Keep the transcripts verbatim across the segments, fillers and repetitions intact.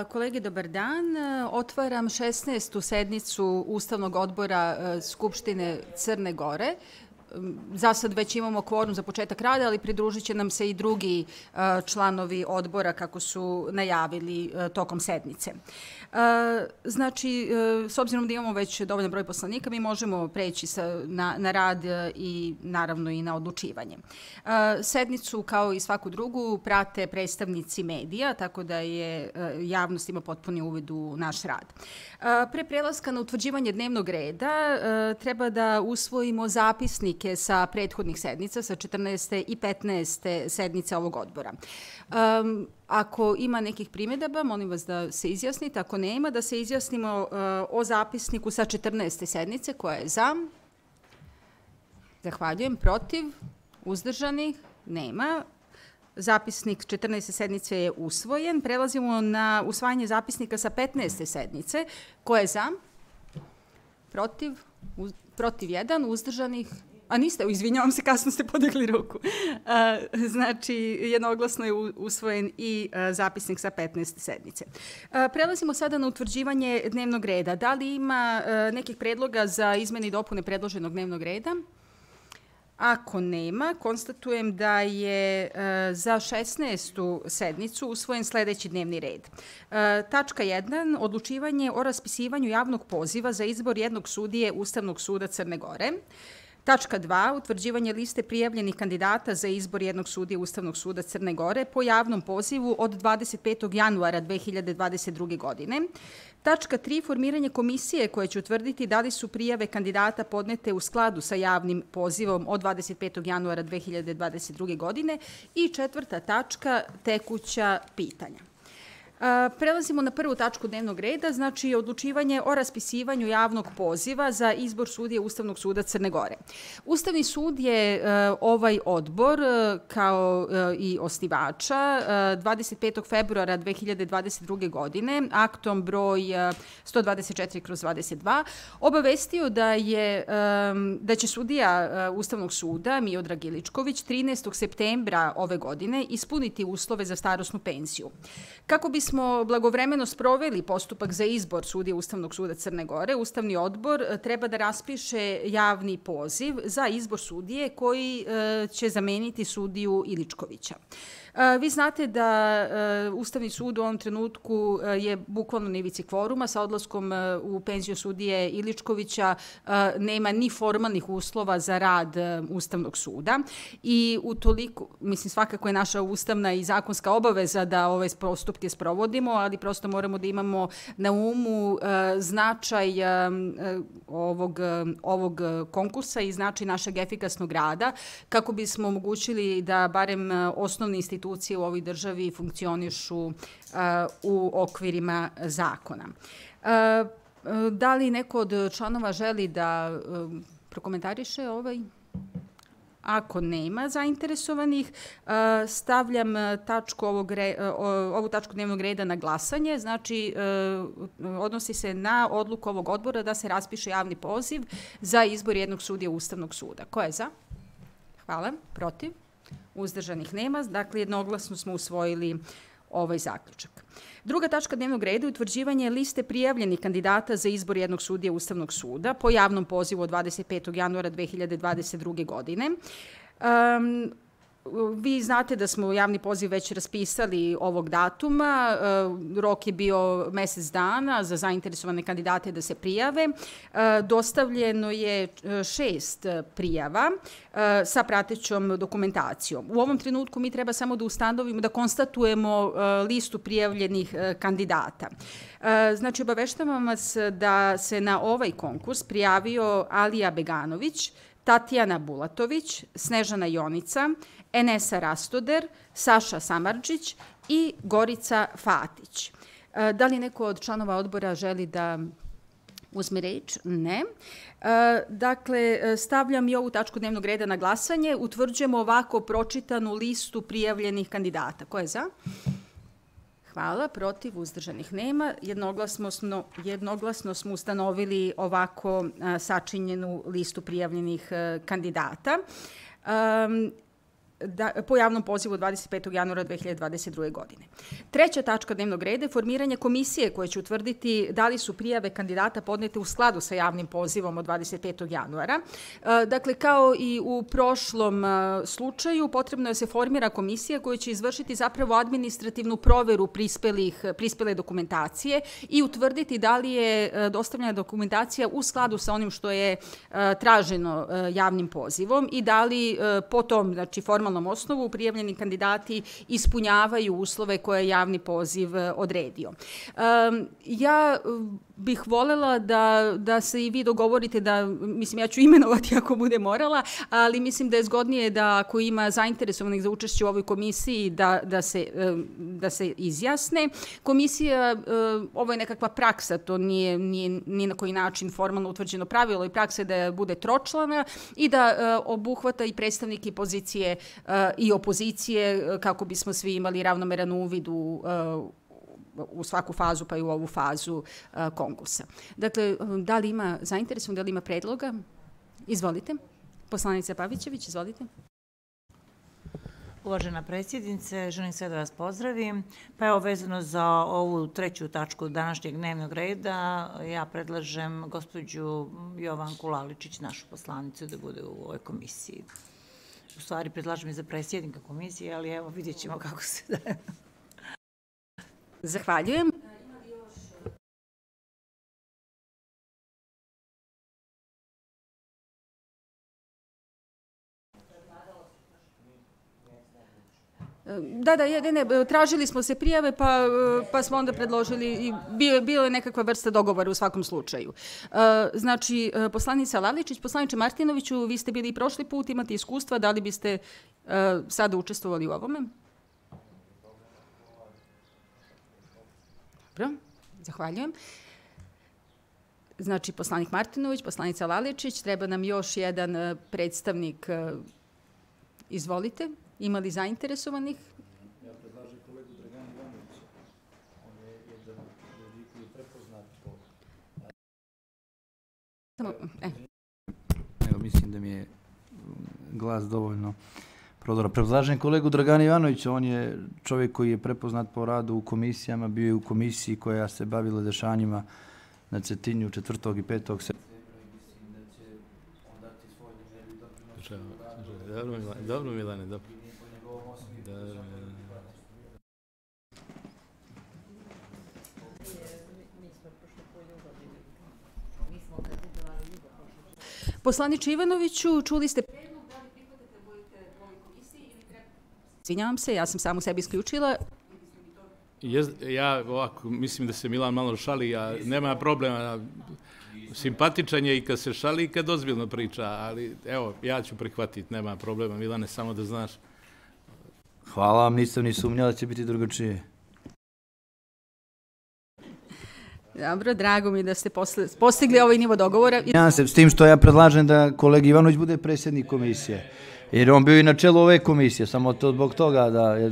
Kolege, dobar dan. Otvaram šesnaestu sednicu Ustavnog odbora Skupštine Crne Gore. Za sad već imamo kvorum za početak rada, ali pridružit će nam se i drugi članovi odbora kako su najavili tokom sednice. Znači, s obzirom da imamo već dovoljan broj poslanika, mi možemo preći na, na rad i naravno i na odlučivanje. Sednicu, kao i svaku drugu, prate predstavnici medija, tako da je javnost ima potpuni uvid u naš rad. Pre prelaska na utvrđivanje dnevnog reda treba da usvojimo zapisnike sa prethodnih sednica, sa četrnaeste i petnaeste sednice ovog odbora. Um, ako ima nekih primjedaba, molim vas da se izjasnite. Ako nema, da se izjasnimo uh, o zapisniku sa četrnaeste sednice. Koja je za? Zahvaljujem. Protiv? Uzdržanih? Nema. Zapisnik četrnaeste sednice je usvojen. Prelazimo na usvajanje zapisnika sa petnaeste sednice. Ko je za? Protiv? Uz, protiv jedan. Uzdržanih? A niste, izvinjavam se, kasno ste podigli ruku. Znači, jednoglasno je usvojen i zapisnik sa petnaeste sednice. Prelazimo sada na utvrđivanje dnevnog reda. Da li ima nekih predloga za izmene i dopune predloženog dnevnog reda? Ako nema, konstatujem da je za šesnaestu sednicu usvojen sledeći dnevni red. Tačka jedan. Odlučivanje o raspisivanju javnog poziva za izbor jednog sudije Ustavnog suda Crne Gore. Tačka dva. Utvrđivanje liste prijavljenih kandidata za izbor jednog sudije Ustavnog suda Crne Gore po javnom pozivu od dvadeset petog januara dve hiljade dvadeset druge. godine. Tačka tri. Formiranje komisije koja će utvrditi da li su prijave kandidata podnete u skladu sa javnim pozivom od dvadeset petog januara dve hiljade dvadeset druge. godine. I četvrta tačka. Tekuća pitanja. Prelazimo na prvu tačku dnevnog reda, znači odlučivanje o raspisivanju javnog poziva za izbor sudije Ustavnog suda Crne Gore. Ustavni sud je ovaj odbor, kao i osnivača, dvadeset petog februara dve hiljade dvadeset druge. godine, aktom broj sto dvadeset četiri kroz dvadeset dva, obavestio da, je, da će sudija Ustavnog suda Miodrag Iličković trinaestog septembra ove godine ispuniti uslove za starosnu penziju. Kako bi smo blagovremeno sproveli postupak za izbor sudije Ustavnog suda Crne Gore, Ustavni odbor treba da raspiše javni poziv za izbor sudije koji će zameniti sudiju Iličkovića. Vi znate da Ustavni sud u ovom trenutku je bukvalno na ivici kvoruma. Sa odlaskom u penziju sudije Iličkovića nema ni formalnih uslova za rad Ustavnog suda i utoliko, mislim, svakako je naša ustavna i zakonska obaveza da ove postupke sprovodimo, ali prosto moramo da imamo na umu značaj ovog, ovog konkursa i značaj našeg efikasnog rada kako bismo omogućili da barem osnovni institucije u ovoj državi funkcionišu uh, u okvirima zakona. Uh, da li neko od članova želi da uh, prokomentariše ovaj? Ako nema zainteresovanih, uh, stavljam tačku ovog re, uh, ovu tačku dnevnog reda na glasanje. Znači, uh, odnosi se na odluku ovog odbora da se raspiše javni poziv za izbor jednog sudije Ustavnog suda. Ko je za? Hvala. Protiv? Uzdržanih nema, dakle jednoglasno smo usvojili ovaj zaključak. Druga tačka dnevnog reda je utvrđivanje liste prijavljenih kandidata za izbor jednog sudije Ustavnog suda po javnom pozivu od dvadeset petog januara dve hiljade dvadeset druge. godine. Um, Vi znate da smo javni poziv već raspisali ovog datuma. Rok je bio mesec dana za zainteresovane kandidate da se prijave. Dostavljeno je šest prijava sa pratećom dokumentacijom. U ovom trenutku mi treba samo da ustanovimo, da konstatujemo listu prijavljenih kandidata. Znači, obaveštavam vas da se na ovaj konkurs prijavio Alija Beganović, Tatjana Bulatović, Snežana Jonica, Enesa Rastoder, Saša Samardžić i Gorica Fatić. Da li neko od članova odbora želi da uzme reč? Ne. Dakle, stavljam i ovu tačku dnevnog reda na glasanje. Utvrđujemo ovako pročitanu listu prijavljenih kandidata. Ko je za? Hvala. Protiv? Uzdržanih nema. Jednoglasno smo, jednoglasno smo ustanovili ovako sačinjenu listu prijavljenih kandidata. Um, Da, po javnom pozivu dvadeset petog januara dve hiljade dvadeset druge. godine. Treća tačka dnevnog reda je formiranje komisije koja će utvrditi da li su prijave kandidata podnete u skladu sa javnim pozivom od dvadeset petog januara. Dakle, kao i u prošlom slučaju, potrebno je da se formira komisija koja će izvršiti zapravo administrativnu proveru prispelih, prispele dokumentacije i utvrditi da li je dostavljena dokumentacija u skladu sa onim što je traženo javnim pozivom i da li po tom, znači, formalnom osnovu prijavljeni kandidati ispunjavaju uslove koje je javni poziv odredio. Ja bih volela da, da se i vi dogovorite da, mislim, ja ću imenovati ako bude morala, ali mislim da je zgodnije da ako ima zainteresovanih za učešće u ovoj komisiji da, da, se, da se izjasne. Komisija, ovo je nekakva praksa, to nije, nije ni na koji način formalno utvrđeno pravilo i praksa je da bude tročlana i da obuhvata i predstavnike pozicije i opozicije kako bismo svi imali ravnomeran uvid u u svaku fazu, pa i u ovu fazu konkursa. Dakle, da li ima zainteresovan, da li ima predloga? Izvolite. Poslanica Pavićević, izvolite. Uvažena predsjednice, želim sve da vas pozdravim. Pa evo, vezano za ovu treću tačku današnjeg dnevnog reda, ja predlažem gospođu Jovanku Laličić, našu poslanicu, da bude u ovoj komisiji. U stvari, predlažem i za predsjednika komisije, ali evo, vidjet ćemo kako se da... Zahvaljujem. Da, da, ne, ne, tražili smo se prijave, pa, pa smo onda predložili i bilo je nekakva vrsta dogovora u svakom slučaju. Znači, poslanica Laličić, poslaniče Martinoviću, vi ste bili i prošli put, imate iskustva, da li biste sada učestvovali u ovome? Dobro, zahvaljujem. Znači, poslanik Martinović, poslanica Laličić, treba nam još jedan predstavnik. Izvolite, ima li zainteresovanih? Ja predlažem kolegu Dragana Ivanovića. On je jedan ljudi koji je prepoznat po... Evo, mislim da mi je glas dovoljno prodora. Predlažem kolegu Dragana Ivanovića, on je čovjek koji je prepoznat po radu u komisijama, bio je u komisiji koja se bavila dešanjima na Cetinju četvrtog i petog septembra i mislim da će on dati svoj neželji doprinos. Dobro, Milane, dobro. Poslaniče Ivanoviću, čuli ste predlog, da li prihvatate da budete u ovoj komisiji ili treba... Svinjavam se, ja sam samu sebi isključila. Ja ovako, mislim da se Milan malo šali, a nema problema. Simpatičan je i kad se šali i kad ozbiljno priča, ali evo, ja ću prihvatiti, nema problema. Milane, samo da znaš. Hvala vam, nisam ni sumnjala da će biti drugačije. Dobro, drago mi da ste postigli ovaj nivo dogovora. Ja se s tim što ja predlažem da kolegi Ivanović bude predsjednik komisije, jer on bio i na čelu ove komisije, samo to zbog toga da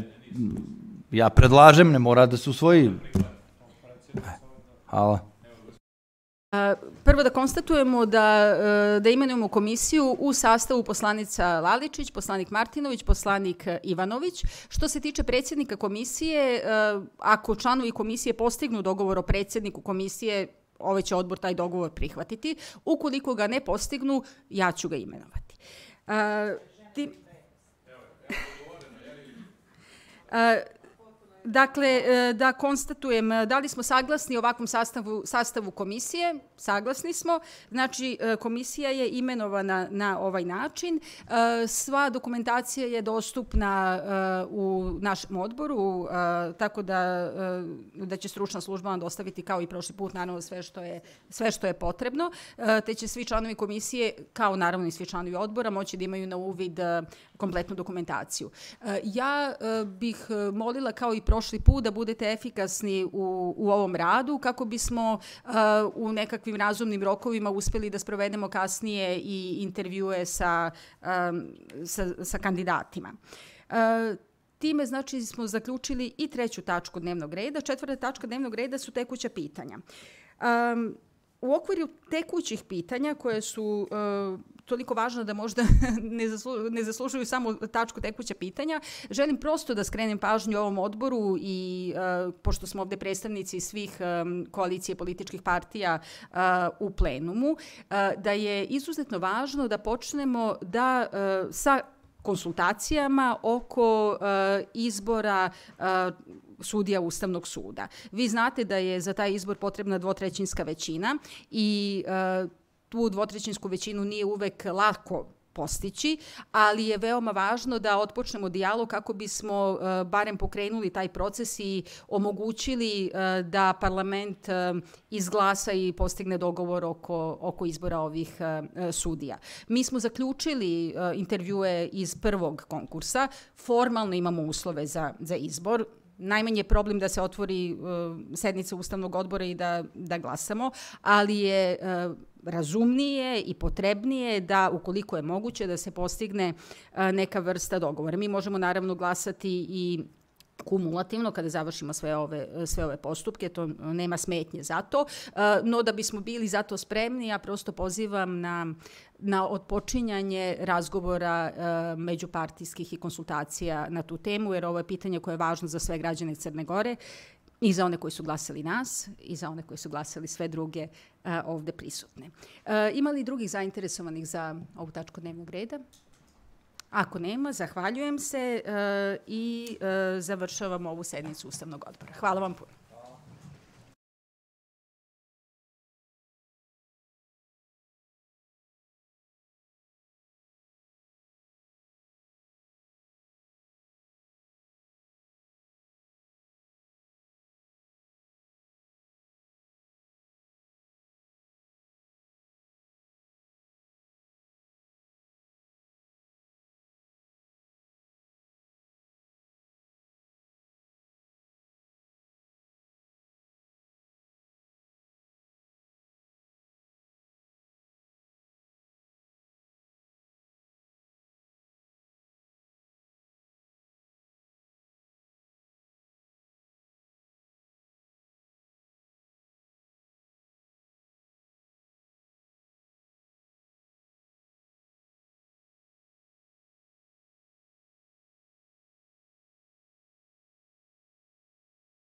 ja predlažem, ne mora da se usvoji. Hvala. Prvo da konstatujemo da, da imenujemo komisiju u sastavu poslanica Laličić, poslanik Martinović, poslanik Ivanović. Što se tiče predsjednika komisije, ako članovi komisije postignu dogovor o predsjedniku komisije, ovaj će odbor taj dogovor prihvatiti. Ukoliko ga ne postignu, ja ću ga imenovati. Ti... Dakle, da konstatujem, da li smo saglasni ovakvom sastavu, sastavu komisije? Saglasni smo. Znači, komisija je imenovana na ovaj način. Sva dokumentacija je dostupna u našem odboru, tako da, da će stručna služba vam dostaviti kao i prošli put, naravno, sve što je, sve što je potrebno. Te će svi članovi komisije, kao naravno i svi članovi odbora, moći da imaju na uvid kompletnu dokumentaciju. Ja bih molila kao i prošli put da budete efikasni u, u ovom radu kako bismo uh, u nekakvim razumnim rokovima uspeli da sprovedemo kasnije i intervjue sa, um, sa, sa kandidatima. Uh, Time, znači, smo zaključili i treću tačku dnevnog reda. Četvrta tačka dnevnog reda su tekuća pitanja. Um, U okviru tekućih pitanja koje su uh, toliko važna da možda ne, zaslu, ne zaslužuju samo tačku tekuća pitanja, želim prosto da skrenem pažnju ovom odboru i uh, pošto smo ovde predstavnici svih um, koalicije političkih partija uh, u plenumu, uh, da je izuzetno važno da počnemo da uh, sa konsultacijama oko uh, izbora uh, sudija Ustavnog suda. Vi znate da je za taj izbor potrebna dvotrećinska većina i uh, tu dvotrećinsku većinu nije uvek lako postići, ali je veoma važno da otpočnemo dijalog kako bismo uh, barem pokrenuli taj proces i omogućili uh, da parlament uh, izglasa i postigne dogovor oko, oko izbora ovih uh, sudija. Mi smo zaključili uh, intervjue iz prvog konkursa, formalno imamo uslove za, za izbor, najmanje je problem da se otvori uh, sednica Ustavnog odbora i da, da glasamo, ali je uh, razumnije i potrebnije da, ukoliko je moguće, da se postigne uh, neka vrsta dogovora. Mi možemo naravno glasati i kumulativno kada završimo sve ove, sve ove postupke, to nema smetnje za to, no da bismo bili za to spremni, ja prosto pozivam na, na otpočinjanje razgovora međupartijskih i konsultacija na tu temu, jer ovo je pitanje koje je važno za sve građane Crne Gore i za one koji su glasali nas i za one koji su glasali sve druge ovde prisutne. Ima li drugih zainteresovanih za ovu tačku dnevnog reda? Ako nema, zahvaljujem se uh, i uh, završavam ovu sednicu Ustavnog odbora. Hvala vam puno.